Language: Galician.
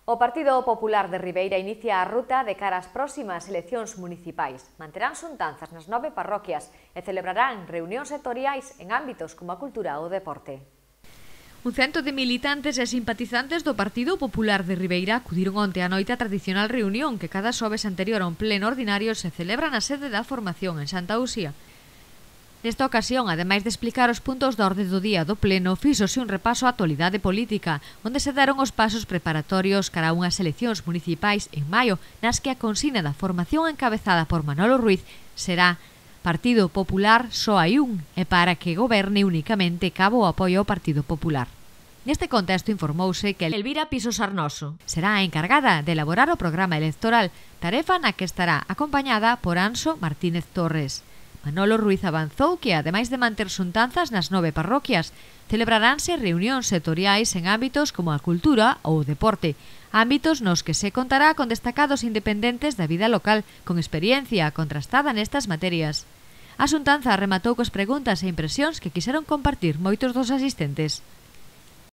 O Partido Popular de Ribeira inicia a ruta de cara ás próximas eleccións municipais. Manterán xuntanzas nas 9 parroquias e celebrarán reunións sectoriais en ámbitos como a cultura ou o deporte. Un cento de militantes e simpatizantes do Partido Popular de Ribeira acudiron onte á noite á tradicional reunión que cada xoves anterior a un pleno ordinario se celebra na sede da formación en Santa Uxía. Nesta ocasión, ademais de explicar os puntos da orde do día do pleno, fíxose un repaso á actualidade política, onde se deron os pasos preparatorios cara a unhas eleccións municipais en maio, nas que a consigna da formación encabezada por Manolo Ruiz será Partido Popular só hai un, e para que goberne únicamente cabo o apoio ao Partido Popular. Neste contexto informouse que Elvira Piso Sarnoso será a encargada de elaborar o programa electoral, tarefa na que estará acompañada por Anxo Martínez Torres. Manolo Ruiz avanzou que, ademais de manter xuntanzas nas 9 parroquias, celebraránse reunións sectoriais en ámbitos como a cultura ou o deporte, ámbitos nos que se contará con destacados independentes da vida local, con experiencia contrastada nestas materias. A xuntanza rematou cos preguntas e impresións que quixeron compartir moitos dos asistentes.